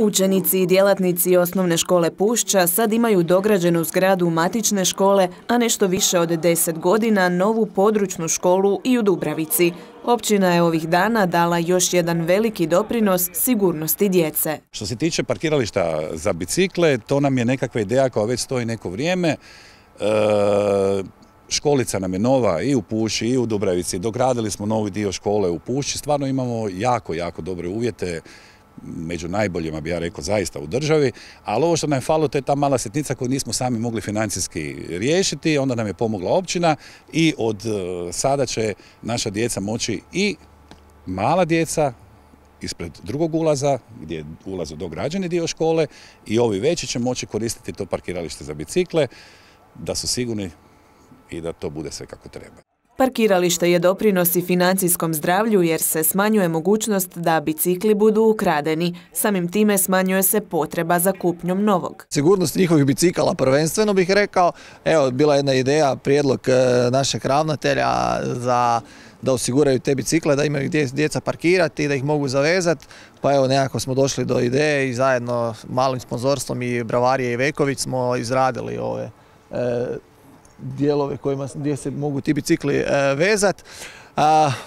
Učenici i djelatnici osnovne škole Pušća sad imaju dograđenu zgradu matične škole, a nešto više od 10 godina novu područnu školu i u Dubravici. Općina je ovih dana dala još jedan veliki doprinos sigurnosti djece. Što se tiče parkirališta za bicikle, to nam je nekakva ideja koja već stoji neko vrijeme. Školica nam je nova i u Pušći i u Dubravici. Dogradili smo novi dio škole u Pušći. Stvarno imamo jako dobre uvjete. Među najboljima bi ja rekao zaista u državi, ali ovo što nam je falilo to je ta mala sitnica koju nismo sami mogli financijski riješiti, onda nam je pomogla općina i od sada će naša djeca moći i mala djeca ispred drugog ulaza, gdje je ulaz u dograđeni dio škole, i ovi veći će moći koristiti to parkiralište za bicikle, da su sigurni i da to bude sve kako treba. Parkiralište je doprinos i financijskom zdravlju jer se smanjuje mogućnost da bicikli budu ukradeni. Samim time smanjuje se potreba za kupnjom novog. Sigurnost njihovih bicikala prvenstveno bih rekao. Evo, bila je jedna ideja, prijedlog našeg ravnatelja da osiguraju te bicikle, da imaju gdje djeca parkirati, da ih mogu zavezati. Pa evo, nekako smo došli do ideje i zajedno malim sponzorstvom i Bravarije i Veković smo izradili ove dijelove gdje se mogu ti bicikli vezati.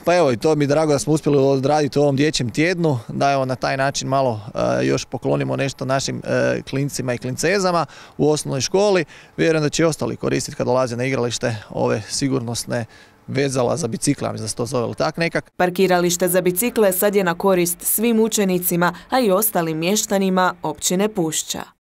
Pa evo, i to mi je drago da smo uspjeli odraditi u ovom dječjem tjednu, da evo na taj način malo još poklonimo nešto našim klincima i klincezama u osnovnoj školi. Vjerujem da će i ostali koristiti kad dolaze na igralište ove sigurnosne vezala za bicikle, mislim da se to zove tak nekak. Parkiralište za bicikle sad je na korist svim učenicima, a i ostalim mještanima općine Pušća.